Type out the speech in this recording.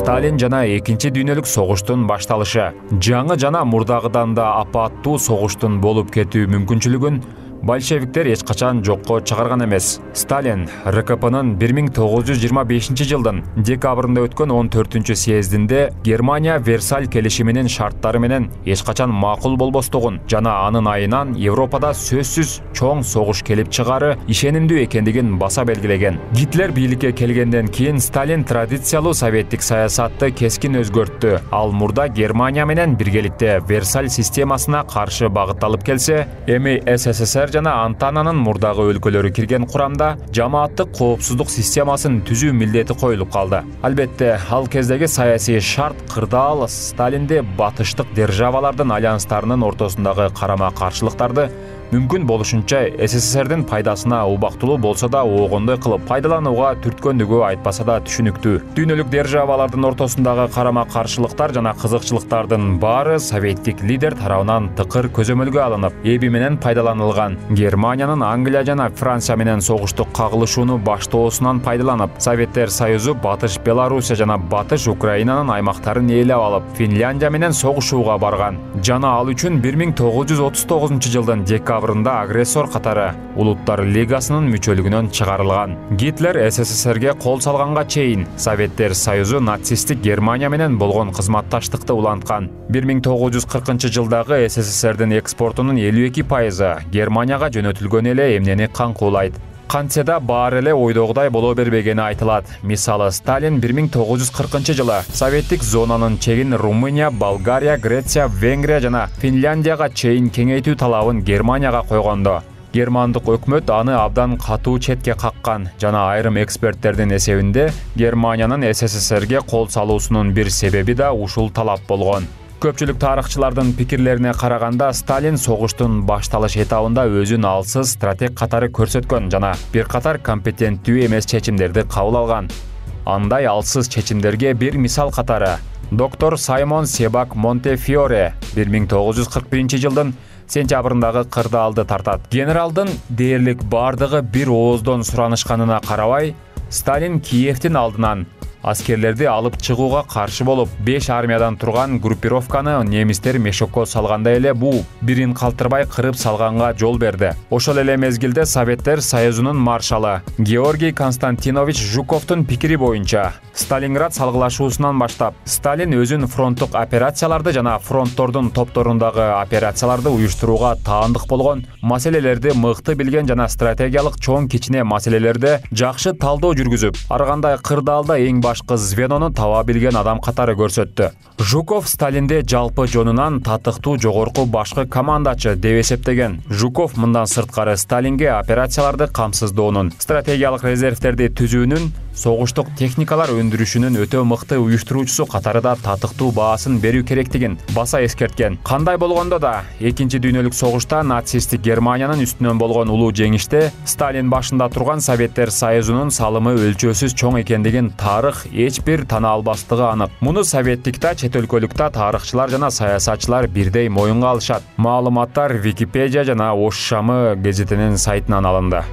Сталин жана экинчи дүйнөлүк согуштун башталышы. Жаңы жана мурдагыдан да апаттуу согуштун болуп кетүү мүмкүнчүлүгүн большевиктер эч качан жокко чыгарган эмес. Сталин РКПнын 1925-жылдын декабрында өткөн 14-съездинде Германия Версаль келишиминин шарттары менен эч качан макул болбостугун жана анын айынан Европада сөзсүз чоң согуш келип чыгары ишенимдүү экендигин баса белгилеген. Гитлер бийликке келгенден кийин Сталин традициялуу советтик саясатты кескин өзгөрттү. Ал мурда Германия менен биргеликте Версаль системасына каршы багытталып келсе, эми СССР жана Антананын мурдагы өлкөлөрү кирген курамда жамааттык коопсуздук системасын түзүү милдети коюлуп калды. Албетте, ал кездеги саясий шарт кырдаал Сталинди батыштык державалардын альянстарынын ортосундагы карама-каршылыктарды мүмкүн болушунча СССРдин пайдасына убактылуу болсо да оогондой кылып пайдаланууга түрткөндүгү айтпаса да түшүнүктүү. Дүйнөлүк державалардын ортосундагы карама-каршылыктар жана кызыкчылыктардын баары советтик лидер тарабынан тыкыр көзөмөлгө алынып, эби менен пайдаланылган. Германиянын Англия жана Франция менен согуштук кагылышууну баштоосунан пайдаланып, Советтер Союзу Батыш Белоруссия жана Батыш Украинанын аймактарын ээлеп алып, Финляндия менен согушууга барган. Жана ал үчүн 1939-жылдын декабрында агрессор катары Улуттар Лигасынын мүчөлүгүнөн чыгарылган. Гитлер СССРге кол салганга чейин Советтер Союзу нацисттик Германия менен болгон кызматташтыкты уланткан. 1940-жылдагы СССРдин экспортунун 52% Германияга жөнөтүлгөн эле эмнени камкуулайт. Кантсе да баары эле ойдогудай боло бербегени айтылат. Мисалы, Сталин 1940-жылы советтик зонанын чегин Румыния, Болгария, Греция, Венгрия жана Финляндияга чейин кеңейтүү талабын Германияга койгондо, германдык өкмөт аны абдан катуу четке каккан жана айрым эксперттердин эсебинде Германиянын СССРге кол салуусунун бир себеби да ушул талап болгон. Көпчүлүк тарыхчылардын пикирлерине караганда Сталин согуштун башталыш этабында өзүн алсыз стратег катары көрсөткөн жана бир катар компетенттүү эмес чечимдерди кабыл алган. Андай алсыз чечимдерге бир мисал катары доктор Саймон Себак Монтефиоре 1941-жылдын сентябрындагы кырдаалды тартат. Генералдын дээрлик бардыгы бир ооздон суранышканына карабай, Сталин Киевдин алдынан аскерлерди алып чыгууга каршы болуп, 5 армиядан турган группировканы немистер мешокко салганда эле буу бирин калтырбай кырып салганга жол берди. Ошол эле мезгилде Советтер Союзунун маршалы Георгий Константинович Жуковдун пикири боюнча Сталинград салгылашуусунан баштап Сталин өзүн фронттук операцияларды жана фронттордун топторундагы операцияларды уюштурууга таандык болгон, маселелерди мыкты билген жана стратегиялык чоң кичине маселелерде жакшы талдоо жүргүзүп, ар кандай кырдаалда эң башкы звенону таба билген адам катары көрсөттү. Жуков Сталинде жалпы жонунан татыктуу жогорку башкы командачы деп эсептеген. Жуков мындан сырткары Сталинге операцияларды камсыздоонун, стратегиялык резервтерди түзүүнүн, согуштук техникалар өндүрүшүнүн өтө мыкты уюштуруучусу катары да татыктуу баасын берүү керектигин баса эскерткен. Кандай болгондо да, экинчи дүйнөлүк согушта нацисттик Германиянын үстүнөн болгон улуу жеңиште Сталин башында турган Советтер Союзунун салымы өлчөөсүз чоң экендигин тарых эч бир тана албастыгы анык. Муну советтик да, чет өлкөлүк да тарыхчылар жана саясатчылар бирдей моюнга алышат. Маалыматтар Википедия жана Ош Шамы гезитинин сайтынан алынды.